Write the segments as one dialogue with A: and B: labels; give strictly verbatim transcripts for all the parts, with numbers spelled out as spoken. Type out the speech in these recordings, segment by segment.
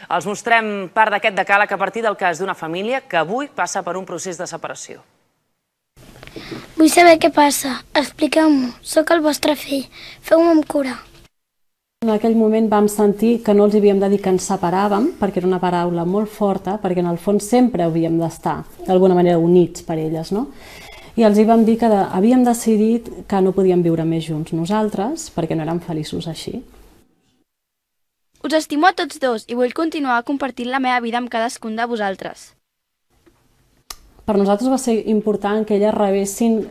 A: Els mostrem part d'aquest decàleg a partir del cas d'una família que avui passa per un procés de separació.
B: Vull saber què passa. Expliqueu-m'ho. Soc el vostre fill. Feu-me amb cura.
C: En aquell moment vam sentir que no els havíem de dir que ens separàvem, perquè era una paraula molt forta, perquè en el fons sempre havíem d'estar, d'alguna manera, units per elles, no? I els hi vam dir que havíem decidit que no podíem viure més junts nosaltres, perquè no érem feliços així.
D: Us estimo a tots dos i vull continuar compartint la meva vida amb cadascun de vosaltres.
C: Per nosaltres va ser important que elles rebessin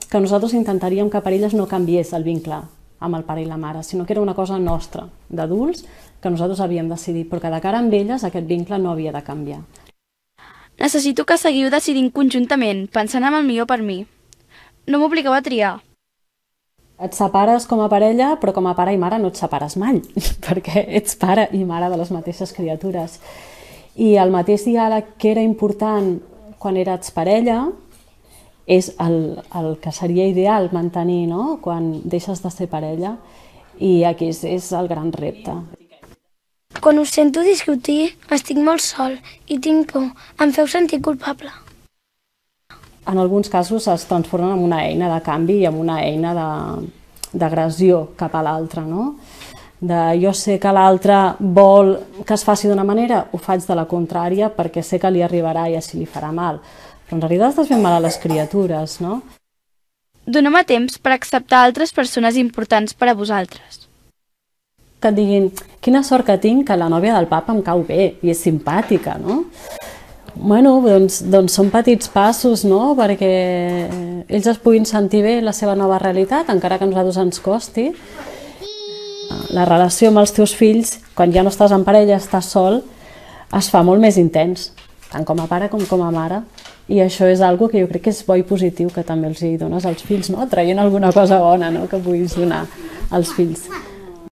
C: que nosaltres intentaríem que per elles no canviés el vincle amb el pare i la mare, sinó que era una cosa nostra, d'adults, que nosaltres havíem decidit, però que de cara amb elles aquest vincle no havia de canviar.
D: Necessito que seguiu decidint conjuntament, pensant en el millor per mi. No m'obligueu a triar.
C: Et separes com a parella, però com a pare i mare no et separes mai, perquè ets pare i mare de les mateixes criatures. I el mateix diàleg que era important quan eres parella és el, el que seria ideal mantenir, no?, quan deixes de ser parella, i aquí és, és el gran repte.
B: Quan us sento discutir, estic molt sol i tinc por. Em feu sentir culpable.
C: En alguns casos es transformen en una eina de canvi i en una eina d'agressió cap a l'altre, no? De jo sé que l'altre vol que es faci d'una manera, ho faig de la contrària perquè sé que li arribarà i així li farà mal. Però en realitat estàs fent mal a les criatures, no?
D: Doneu-me temps per acceptar altres persones importants per a vosaltres.
C: Que et diguin, quina sort que tinc que la nòvia del papa em cau bé i és simpàtica, no? Bueno, doncs, doncs són petits passos, no?, perquè ells es puguin sentir bé la seva nova realitat, encara que a nosaltres ens costi. La relació amb els teus fills, quan ja no estàs en parella, estàs sol, es fa molt més intens, tant com a pare com com a mare. I això és una cosa que jo crec que és bo i positiu que també els hi dones als fills, no?, traient alguna cosa bona, no?, que puguis donar als fills.